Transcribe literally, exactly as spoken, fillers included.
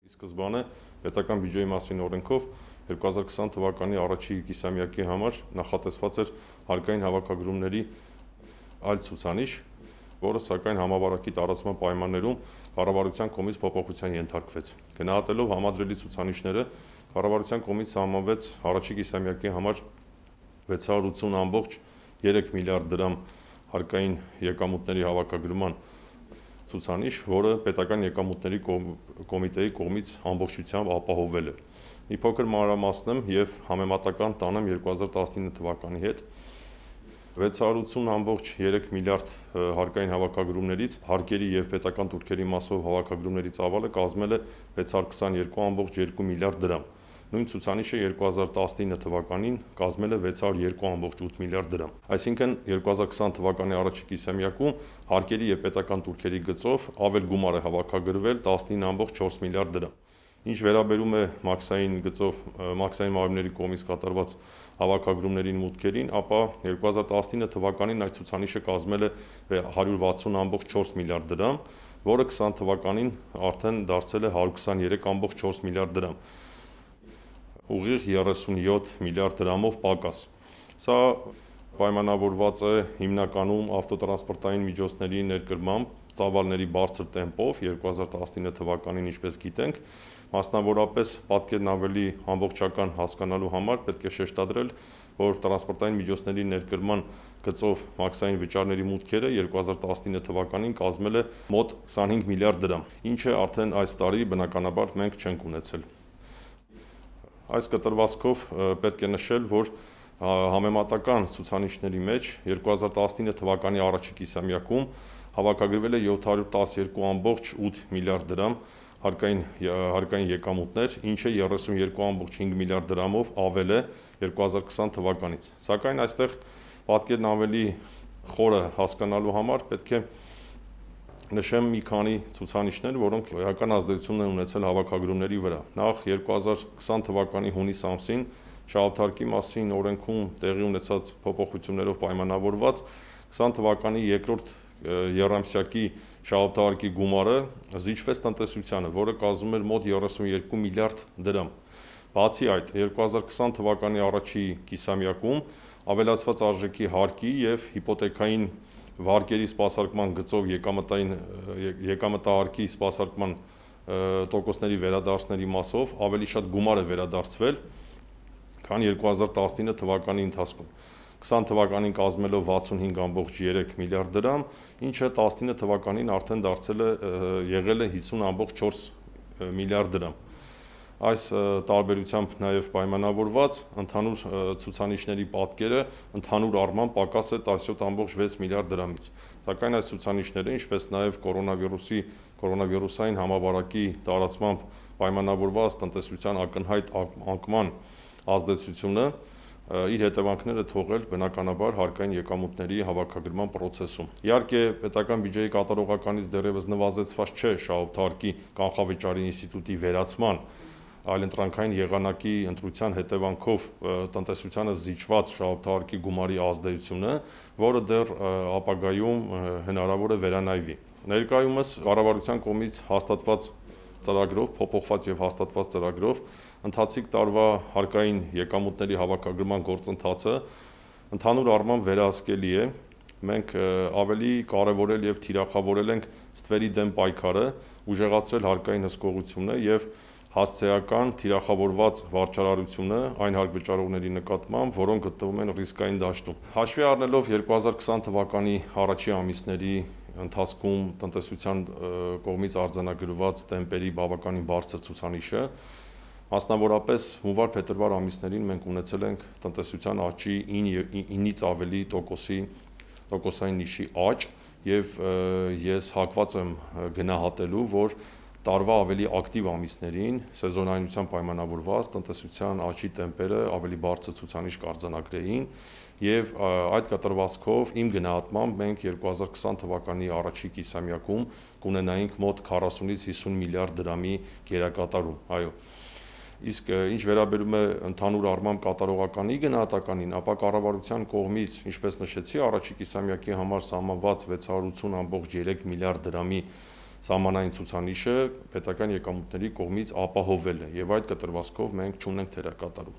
Սկզբանե պետական բյուջեի մասին օրենքով երկու հազար քսան թվականի առաջի կիսամյակի համար նախատեսված էր հարկային հավաքագրումների այլ ցուցանիշ, որը սակայն համավարակի տարածման պայմաններում կառավարության կողմից փոփոխության ենթարկվեց։ Գնահատելով համադրելի ցուցանիշները, կառավարության կողմից սահմանվեց առաջի կիսամյակի համար վեց հարյուր ութսուն ամբողջ երեք միլիարդ դրամ հարկային եկամուտների հավաքագրման ցուցանիշ, որը պետական եկամուտների կոմիտեի կողմից ամբողջությամբ ապահովվել է։ Մի փոքր մանրամասնեմ եւ համեմատական տանեմ երկու հազար տասնինը թվականի հետ։ վեց հարյուր ութսուն ամբողջ երեք միլիարդ հարկային հավաքագրումներից հարկերի եւ պետական տուրքերի մասով հավաքագրումների ծավալը կազմել է վեց հարյուր քսաներկու ամբողջ երկու միլիարդ դրամ։ Նույն ցուցանիշը երկու հազար տասնինը թվականին կազմել է վեց հարյուր երկու ամբողջ ութ միլիարդ դրամ։ Այսինքն երկու հազար քսան թվականի առաջի կիսամյակում հարկերի եւ պետական տուրքերի գծով ավել գումար է հավաքագրվել տասնինը ամբողջ չորս միլիարդ դրամ։ Ինչ վերաբերում է մաքսային գծով մաքսային մարմինների կողմից կատարված հավաքագրումներին մուտքերին, ապա երկու հազար տասնինը թվականին այդ ցուցանիշը կազմել է հարյուր վաթսուն ամբողջ չորս միլիարդ դրամ, որը քսան թվականին արդեն դարձել է հարյուր քսաներեք ամբողջ չորս միլիարդ դրամ։ Ուղիղ երեսունյոթ միլիարդ դրամով պակաս։ Սա պայմանավորված է հիմնականում ավտոտրանսպորտային միջոցների ներկրմամբ ծավալների բարձր տեմպով երկու հազար տասնինը թվականին, ինչպես գիտենք, մասնավորապես պատկերն ավելի ամբողջական հասկանալու համար պետք է շեշտադրել, որ տրանսպորտային միջոցների ներկրման գծով մաքսային վճարների մուտքերը երկու հազար տասնինը թվականին կազմել է մոտ քսանհինգ միլիարդ դրամ, ինչը արդեն այս տարի բնականաբար մենք չենք ունեցել։ Այս կտրվածքով պետք է նշել, որ համեմատական ցուցանիշների մեջ երկու հազար տասնինը թվականի առաջի կիսամյակում հավաքագրվել է յոթ հարյուր տասներկու ամբողջ ութ միլիարդ դրամ հարկային հարկային եկամուտներ, ինչը երեսունյոթ ամբողջ հինգ միլիարդ դրամով ավել է երկու հազար քսան թվականից։ Սակայն այստեղ պատկերն ավելի խորը հասկանալու համար պետք է նշեմ մի քանի ցուցանիշներ, որոնք էական ազդեցություն են ունեցել հավաքագրումների վրա։ Նախ երկու հազար քսան թվականի հունիս ամսին շահութարկի մասին օրենքում տեղի ունեցած փոփոխություններով պայմանավորված քսան թվականի երկրորդ եռամսյակի շահութարկի գումարը զիջվեց տնտեսությանը, որը կազմում էր մոտ երեսունյոթ միլիարդ դրամ։ Բացի այդ, երկու հազար քսան թվականի առաջի կիսամյակում ավելացված արժեքի հարկի եւ հիպոթեքային վարկերի սպասարկման գծով եկամտային եկամտահարկի սպասարկման տոկոսների վերադարձների մասով ավելի շատ գումար է վերադարձվել, քան երկու հազար տասնինը թվականի ընթացքում։ քսան թվականին կազմելով վաթսունհինգ ամբողջ երեք միլիարդ դրամ, ինչը տասնինը թվականին արդեն դարձել է եղել է հիսուն ամբողջ չորս միլիարդ դրամ։ Այս տարբերությամբ նաև պայմանավորված ընդհանուր ցուցանիշների պատկերը ընդհանուր առմամբ պակաս է տասնյոթ ամբողջ վեց միլիարդ դրամից։ Սակայն այս ցուցանիշները, ինչպես նաև կորոնավիրուսի կորոնավիրուսային համավարակի տարածմամբ պայմանավորված տնտեսության ակնհայտ անկման ազդեցությունը իր հետևանքները թողել բնականաբար հարկային եկամուտների հավաքագրման process-ում։ Իհարկե, պետական բյուջեի կատարողականից դեռևս նվազեցված չէ շահութարկի կանխավճարի ինստիտուտի վերացման այլընտրանքային եղանակի ընտրության հետևանքով տնտեսությանը զիջված շահութարկի գումարի ազդեցությունը, որը դեռ ապագայում հնարավոր է վերանայվի։ Ներկայումս կառավարության կողմից հաստատված ծրագրով, փոփոխված եւ հաստատված ծրագրով ընթացիկ տարվա հարկային եկամուտների հավաքագրման գործընթացը ընդհանուր առմամբ վերահսկելի է։ Մենք ավելի կարևորել եւ թիրախավորել ենք ստվերի դեմ պայքարը, ուժեղացրել հարկային հսկողությունը եւ հասցեական թիրախավորված վարչարարությունը այն հարկ վճարողների նկատմամբ, որոնք գտնվում են ռիսկային դաշտում։ Հաշվի առնելով երկու հազար քսան թվականի առաջի ամիսների ընթացքում տնտեսության կողմից արձանագրված տեմպերի բավականին բարձր ցուցանիշը, մասնավորապես հունվար-փետրվար ամիսներին մենք ունեցել ենք տնտեսության աճի ինից ավելի տոկոսի տոկոսային նիշի աճ եւ ես հակված եմ գնահատելու, որ տարվա ավելի ակտիվ ամիսներին սեզոնայնությամբ պայմանավորված տնտեսության աճի տեմպերը ավելի բարձր ցուցանիշ կարձանագրեին եւ այդ կտրվածքով իմ գնահատմամբ մենք երկու հազար քսան թվականի առաջի կիսամյակում կունենայինք մոտ քառասունից հիսուն միլիարդ դրամի գերակատարում։ Այո։ Իսկ ինչ վերաբերում է ընդհանուր առմամբ կատարողականի գնահատականին, ապա կառավարության կողմից, ինչպես նշեցի, առաջի կիսամյակի համար սահմանված վեց հարյուր ութսուն ամբողջ երեք միլիարդ դրամի սահմանային ցուցանիշը պետական եկամուտների կողմից ապահովել է եւ այդ կտրվածքով մենք չունենք թերակատարում։